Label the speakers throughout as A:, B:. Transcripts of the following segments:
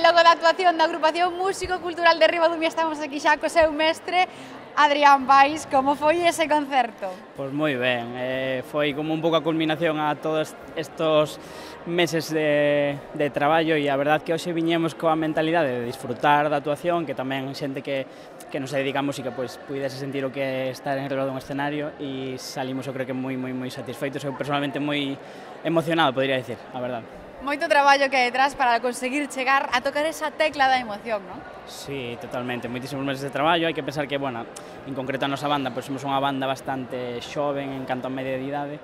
A: logo da actuación da agrupación Músico Cultural de Ribadumia estamos aquí xa co seu mestre, Adrián Pais. Como foi ese concerto?
B: Pois moi ben, foi como un pouco a culminación a todos estos meses de traballo e a verdad que hoxe viñemos coa mentalidade de disfrutar da actuación, que tamén xente que nos dedica a música pois puidese sentir o que é estar en riba dun escenario e salimos eu creo que moi satisfeitos, eu personalmente moi emocionado, podría dicir, a verdade.
A: Moito traballo que hai detrás para conseguir chegar a tocar esa tecla da emoción, non?
B: Sí, totalmente, moitísimos meses de traballo, hai que pensar que, bueno, en concreto a nosa banda, pois somos unha banda bastante xoven en canto a media de idade,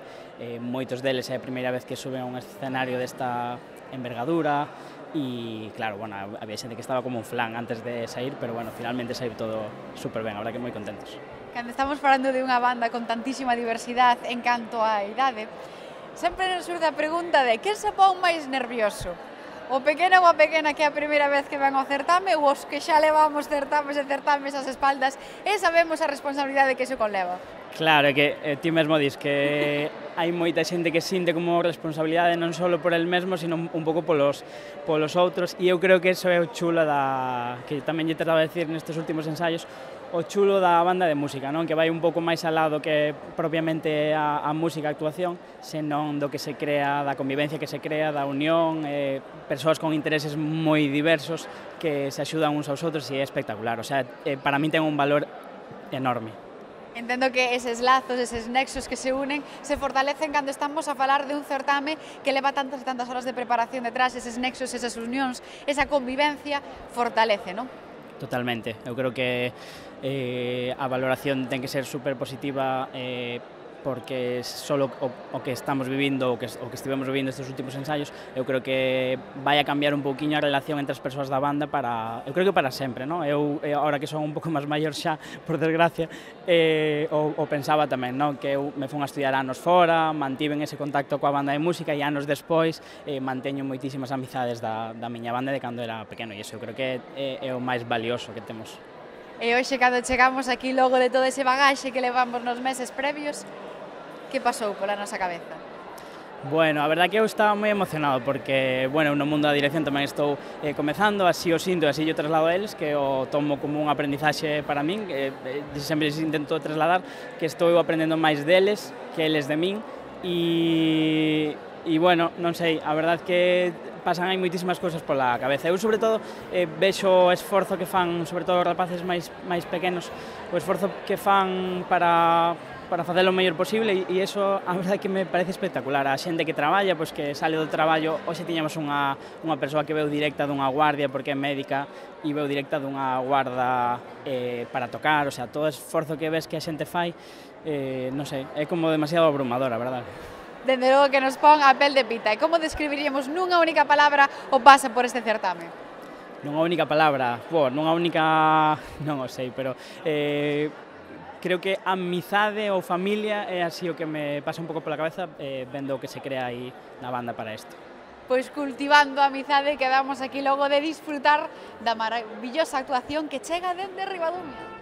B: moitos deles é a primeira vez que suben a un escenario desta envergadura e, claro, bueno, había xente que estaba como un flan antes de sair, pero, bueno, finalmente saiu todo super ben, a verdad que moi contentos.
A: Cando estamos falando de unha banda con tantísima diversidade en canto á idade, sempre nos surge a pregunta de quen se pon máis nervioso? O pequeno ou a pequena que é a primeira vez que ven ao certame ou os que xa levamos certames e certames ás espaldas e sabemos a responsabilidade que iso conleva?
B: Claro, é que ti mesmo dis que hai moita xente que sinte como responsabilidade non só por el mesmo, sino un pouco polos outros e eu creo que iso é o chulo que tamén lle trataba de decir nestes últimos ensaios, o chulo da banda de música, non? Que vai un pouco máis al lado que propiamente a música, a actuación, senón do que se crea, da convivencia que se crea, da unión, persoas con intereses moi diversos que se axudan uns aos outros e é espectacular, o sea, para min ten un valor enorme.
A: Entendo que eses lazos, eses nexos que se unen, se fortalecen cando estamos a falar de un certame que leva tantas e tantas horas de preparación detrás, eses nexos, esas unións, esa convivencia, fortalece, non?
B: Totalmente, eu creo que a valoración ten que ser super positiva porque solo o que estamos vivindo, o que estivemos vivindo estes últimos ensaios, eu creo que vai a cambiar un pouquiño a relación entre as persoas da banda eu creo que para sempre, non? Eu, agora que son un pouco máis maior xa, por desgracia, o pensaba tamén, non? Que eu me fun a estudiar anos fora, mantiven ese contacto coa banda de música e anos despois manteño moitísimas amizades da miña banda de cando era pequeno e iso eu creo que é o máis valioso que temos.
A: E hoxe, cando chegamos aquí, logo de todo ese bagaxe que levamos nos meses previos, que pasou pola nosa cabeza?
B: Bueno, a verdade que eu estaba moi emocionado porque, bueno, no mundo da dirección tamén estou comezando, así o sinto, así yo traslado a eles, que o tomo como un aprendizaxe para min, sempre intento trasladar que estou aprendendo máis deles que eles de min e bueno, non sei, a verdade que pasan aí moitísimas cousas pola cabeza. Eu, sobre todo, vexo o esforzo que fan, sobre todo os rapaces máis pequenos, o esforzo que fan para facelo o mellor posible e iso, a verdade que me parece espectacular. A xente que traballa, pois que sale do traballo, hoxe tiñamos unha persoa que veu directa dunha guardia porque é médica e veu directa dunha guarda para tocar, o sea, todo o esforzo que ves que a xente fai, non sei, é como demasiado abrumador, a verdade.
A: Dende logo que nos pon a pel de pita. E como describiríamos nunha única palabra o pasa por este certame?
B: Nunha única palabra, nunha única... non o sei, pero creo que amizade ou familia é así o que me pasa un pouco pola cabeza vendo o que se crea aí na banda para isto.
A: Pois cultivando a amizade, quedamos aquí logo de disfrutar da maravillosa actuación que chega dende Ribadumia.